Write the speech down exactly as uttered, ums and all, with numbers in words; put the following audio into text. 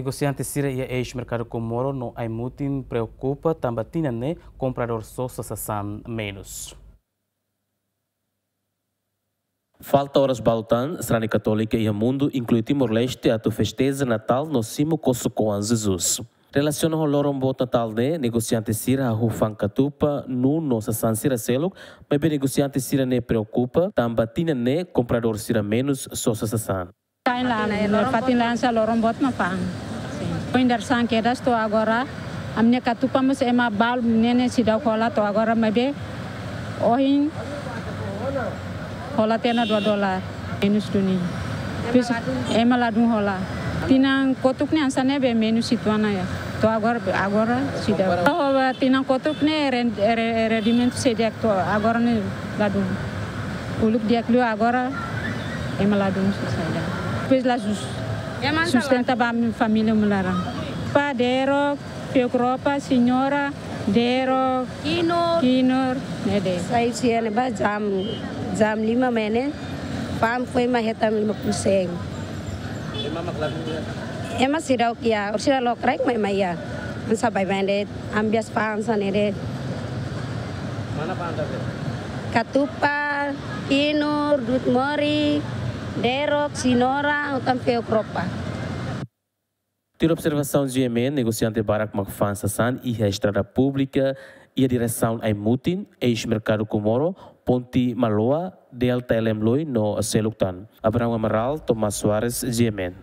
Negosiante sira iha eis merkadu Comoro no Aimutin preokupa tanba tinan ne'e kompradór sosa sasán menus. Falta oras balu tan, sarani katólika iha mundu, inklui Timor-Leste, atu festeja Natál no simu kosok-oan Jesus. Relasiona ho loron boot Natál ne'e, negosiante sira hahú fa'an katupa, nun no sasán sira seluk, maibé negosiante sira ne'e preokupa tanba tinan ne'e kompradór sira menus sosa sasán. Kain la, fatin la hanesan loron boot mak fa'an. Foin dadeer-saan kedas to'o agora, ami-nia katupa mós ema balu ne'e ne'e seidauk hola to'o agora, maibé ohin hola tiha ona dua dolar menus duni. Depois ema ladún hola. Tinan kotuk ne'e hanesan ne'ebé menus situana ya. To'o agora, agora seidauk. To'o tinan kotuk ne'e ren-, re-, rendimentu seidauk to'o agora ne'e ladún. Uluk di'ak liu, agora ema ladún susar ida. Depois la sus-, sustenta ba família mak laran. Pa Dero, Fiuk Ropa, Señora, Dero, Kinur. Kinur, ne'e de'it. Sai husi ne'ebá jam, jam lima mai ne'e, fa'an foin mak hetan lima puluh sen. Ema mak ladún iha? Ema seidauk iha, orsida lokraik mak ema iha. Hanesan baibain de'it, ami biasa fa'an hanesan ne'e de'it. Mana fa'an ida be? Katupa, kinur, du'ut mori, derok, señora, ho tan Fiuk Ropa. Tuir observasaun G M N, negosiante barak mak fa'an sasán iha estrada públika, iha diresaun Aimutin, eis merkadu Comoro, ponte Maloa, Delta L M Loi no seluk tan. Abraham Amaral, Tomás Soares, G M N.